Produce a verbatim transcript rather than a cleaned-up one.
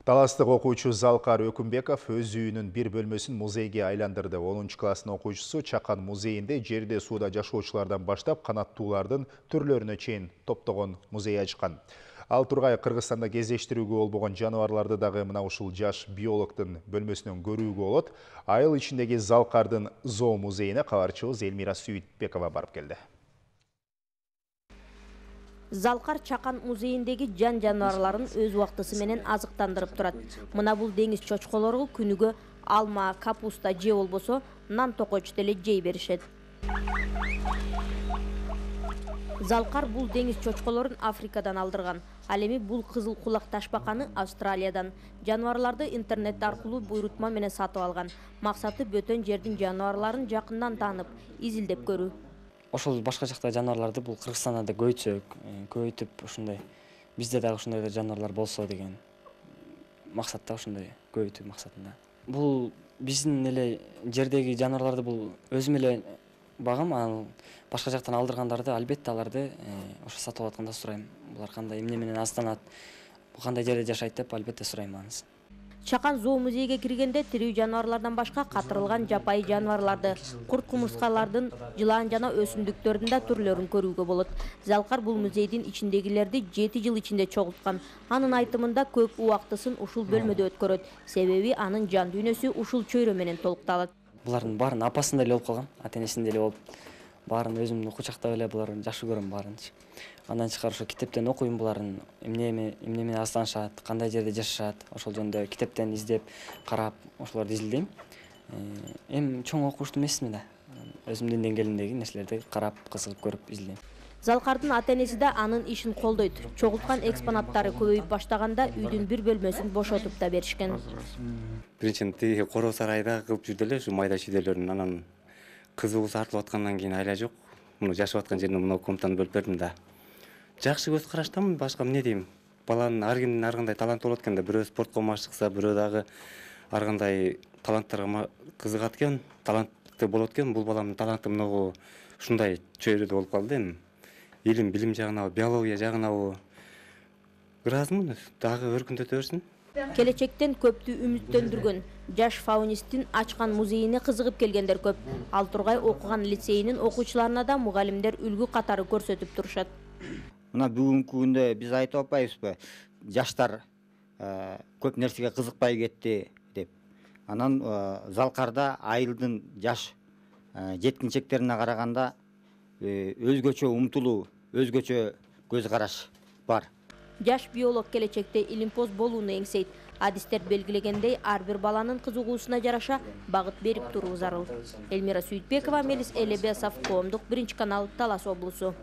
Таластык окуучу Залкар Өкүмбеков өз үйүнүн бир бөлмөсүн музейге айландырды. онунчу класстын окуучусу Чакан музейинде жерде сууда жашоочулардан баштап канаттуулардын түрлөрүнө чейин топтогон музей ачкан. Ал тургай Кыргызстанда кездештирүүгө болбогон жаныбарларды дагы мына ушул жаш биологдун бөлмөсүнөн көрүүгө болот. Айыл ичиндеги Залкардын зоо музейине кабарчыбыз Элмира Сүйтбекова барып келди. Залкар Чакан музейиндеги жан жаныбарларын өз убактысы менен азыктандырып турат. Мына бул деңиз чочколору күнүгө алма, капуста же болбосо нан токоч деле жей беришет. Залкар бул деңиз чочколорун Африкадан алдырган. Ал эми бул кызыл кулак ташбаканы Австралиядан. Жаныбарларды интернет аркылуу буйрутма менен сатып алган. Максаты бөтөн жердин жаныбарларын жакындан таанып, изилдеп көрүү. Ошол башка жакта жаныбарларды бул Кыргызстанда да көбөйтсөк, көбөйтүп ушундай бизде дагы ушундай жаныбарлар болсо деген максатта ушундай көбөйтүү максатында. Бул биздин эле жердеги жаныбарларды бул өзүм эле багам, ал башка жактан алдыргандарды албетте аларды ошо сатып атканда сурайм. Булар кандай эмне менен азданат, кандай жерде жашайт деп албетте сурайм анысы. Чакан зоо музейге киргенде тирүү жаныбарлардан башка катырылган жапайы жаныбарларды, курт-кумурскалардын, жылан жана өсүмдүктөрдүн да түрлөрүн көрүүгө болот. Залкар бул музейдин ичиндегилерди жети жыл ичинде чогулткан. Анын айтымында көп убактысын ушул бөлмөдө өткөрөт. Себеби анын жан дүйнөсү ушул чөйрө менен толукталат. Булардын баарын апасында эле болуп калган, ата-энесинде эле болуп, баарын өзүмдү кучактап эле буларын жакшы көрөм баарынчы. Андан тышкары ошо китептен окуйм буларын эмне эмне менен азданышат, кандай жерде жашашат, ошол жөнүндө китептен издеп, карап, ошолорду изилдейм. Эми чоң окуучу эмесмин да. Өзүмдүн деңгээлимдеги нерселерди карап, кызыгып көрүп изилдейм. Залкардын ата-энеси да анын ишин колдойт. Чогулткан экспонаттары көбөйүп баштаганда үйдүн бир бөлмөсүн бошотуп да беришкен. Биринчиден тиги Коро сарайда кылып жүрдү эле ушу майда чүйдөлөрүн, анан кызыбыз артылып аткандан кийин айла жок. Муну жашап аткан жерине мына комнатаны бөлүп бердим да. Жакшы көз караштамын, башка эмне дейм. Баланын ар кимдин ар кандай таланты болот экен да. Бирөө спортко машыкса, бирөө дагы ар кандай таланттарга кызыгат экен, талантты болот экен. Бул баламдын таланты мынагу ушундай чөйрөдө болуп калды эми. Илим, билим жагынабы, биология жагынабы ыраазымын, дагы өркүндөтө берсин. Келечектен көптү үмүттөндүргөн жаш фаунисттин ачкан музейине кызыгып келгендер көп. Ал тургай окуган лицейинин окуучуларына да мугалимдер үлгү катары көрсөтүп турушат. Мына бүгүнкү күндө биз айтып атпайбызбы, жаштар көп нерсеге кызыкпай кетти деп. Анан Залкарда айылдын жаш жеткинчектерине караганда өзгөчө умтулуу, өзгөчө көз караш бар. Жаш биолог келечекте илимпоз болууну эңсейт. Адистер белгилегендей, ар бир баланын кызыгуусуна жараша багыт берип туруу зарыл. Элмира Сүйтбекова, Мелис Элебесов, Коомдук биринчи канал, Талас облусу.